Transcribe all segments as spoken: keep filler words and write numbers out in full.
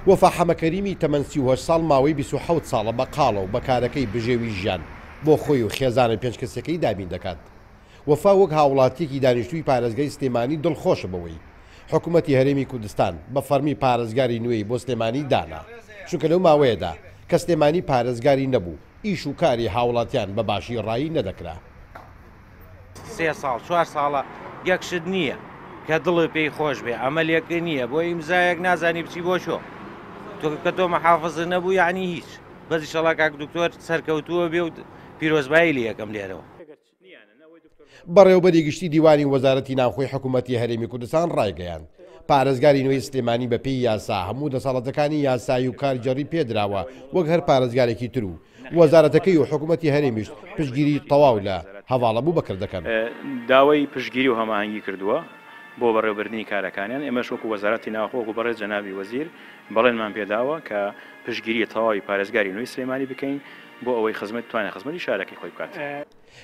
وەفا حەمەکەریمی تەمەن سی و هەشت ساڵ ماوەی بیست و حەوت ساڵە بە قاڵە و بە کارەکەی بژێوی ژیان بۆ خۆی و خێزانە پێنج کەسەکەی دابین دەکات. وەفا وەک هاوڵاتیەکی دانیشتووی پارێزگای سلێمانی دڵخۆشە بەوەی حکوومەتی هەرێمی کوردستان بە فەرمی پارێزگاری نوێی بۆ سلێمانی دانا، چونکە لەو ماوەیەدا کە سلێمانی پارێزگاری نەبوو ئیش و کاری هاوڵاتیان بە باشی ڕایی نەدەکرا. سێ ساڵ چوار ساڵە یەک شت نییە کە دڵی پێی خۆش بێ، ئەمەلێکە نییە بۆ ئیمزایەک نازانی بچی بۆ شۆ، تۆ کە تۆ محافظ نەبوو یعنی هیچ. بەس ئینشەڵا کاک دکتۆر سەرکەوتووە بێ و پیرۆزبایی لێ یەکەم لێرەوە. بەڕێوبەری گشتی دیوانی وەزارەتی ناوخۆی حکوومەتی هەرێمی کوردستان ڕایگەیاند پارێزگاری نوێی سلێمانی بەپێی یاسا هەموو دەسەڵاتەکانی یاسایی و کارگێڕی پێدراوە وەک هەر پارێزگارێکی تر و وەزارەتەکەی و حکوومەتی هەرێمیش پشتگیری تەواو لە هەڤاڵ ئەبوبەکر دەکەن. داوای پشتگیری و هەماهەنگی کردووە بۆ بەڕێوەبردنی کارەکانیان. ئێمەش وەکو وەزارەتی ناوخۆ وەکو بەڕێز جەنابی وەزیر بەڵێنمان پێداوە کە پشتگیری تەواوی پارێزگاری نوێی سلێمانی بکەین بۆ ئەوەی خزمەت توانێت خزمەتی شارەکەی خۆی بکات.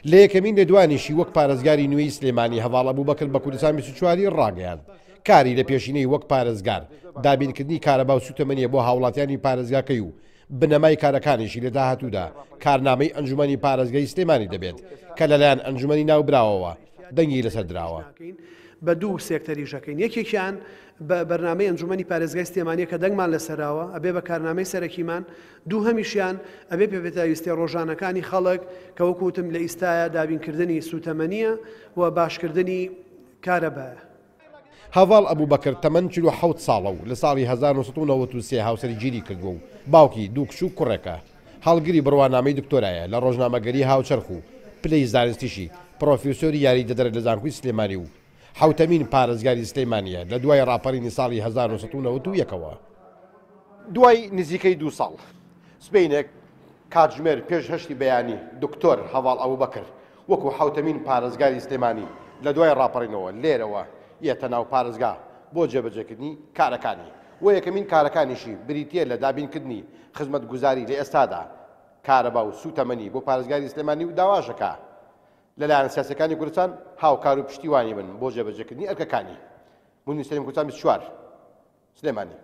لە یەکەمین لێدوانیشی وەک پارێزگاری نوێی سلێمانی هەڤاڵ ئەبوبەکر بە کوردستان بیست و چواری ڕاگەیاند کاری لە پێشینەی وەک پارێزگار دابینکردنی کارەبا و سوتەمەنیە بۆ هاوڵاتیانی پارێزگاکەی و بنەمای کارەکانیشی لە داهاتوودا کارنامەی ئەنجومەنی پارێزگای سلێمانی دەبێت کە لەلایەن ئەنجومەنی ناوبراوەوە دەنگی لەسەر دراوە. بە دوو سێکتەریش ئەکەین، یەکێکیان بە بەرنامەی ئەنجومەنی پارێزگای سلێمانیە کە دەنگمان لەسەراوە ئەبێ بە کارنامەی سەرەکیمان، دوو هەمیشیان ئەبێ پێپێداویستیە ڕۆژانەکانی خەڵک کە وەکوتم لە ئیستایە دابینکردنی سوتەمەنیە و باشکردنی کارەبایە. هەڤاڵ ئەبوبەکر تەمەن چل و حەوت ساڵە و لە ساڵی هەزار و نۆ سەد و نەوەد و سێ هاوسەرگیری کردووە و باوکی دوو کچ و کوڕێکە. هەڵگری بڕوانامەی دکتۆرایە لە ڕۆژنامەگەری هاوچەرخ و پلەی زانستیشی پرۆفیسۆری یاریدەدەرە لە زانکۆی سلێمانی و حوتەمین پارێزگاری سلێمانیە لە دوای ڕاپەڕینی ساڵی هەزار و نۆ سەد و نەوەد و یەکەوە. دوای نزیکەی دوو ساڵ سبەینێک کاتژمێر پێش هەشتی بەیانی دکتۆر هەڤاڵ ئەبوبەکر وەکو حوتەمین پارێزگاری سلێمانی لە دوای ڕاپەڕینەوە لێرەوە یەتە ناو پارێزگا بۆ جێبەجێکردنی کارەکانی و یەکەمین کارەکانیشی بریتیە لە دابینکردنی خزمەتگوزاری لە ئێستادا کارەبا و سوتەمەنی بۆ پارێزگاری سلێمانی و داواشەکە لەلایەن سیاسەکانی کوردستان هاوکار و پشتیوانی بن بۆ جێبەجێکردنی ئەرکەکانی. مونیر سەلیم، کوردستان بیست و چوار، سلێمانی.